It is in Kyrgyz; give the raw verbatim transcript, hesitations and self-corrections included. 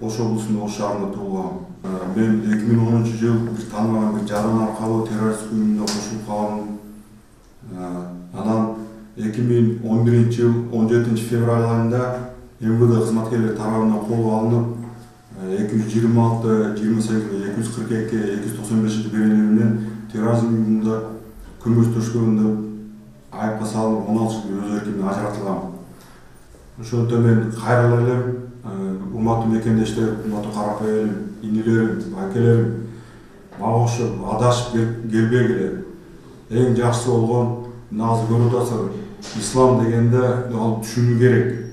Ош облусунун Ош шаарында туулгам. Мен эки миң онунчу жыл бир тааныбаган бир жаран аркылуу террорист уюмуна кошулуп калдым. Анан эки миң он биринчи жыл он жетинчи февраль айында эм вэ дэ кызматкерлери тарабынан колго алынып, эки жүз жыйырма алты жыйырма сегиз эки жүз кырк эки эки жүз токсон бешинчи беренеси менен терроризм уюмунда күмүш төшкөнгөндө айыпка салынып, он алты жыл өз эркимден ажыратылгам. Ошондо мен кайрылып элем, урматтуу мекендештер, урматтуу карапай элим, инилерим, акелерим, мага окшоп адашып келбегиле. Эң жакшысы болгон, азыр көрүп атасыздар, ислам дегенде ал түшүнүү керек.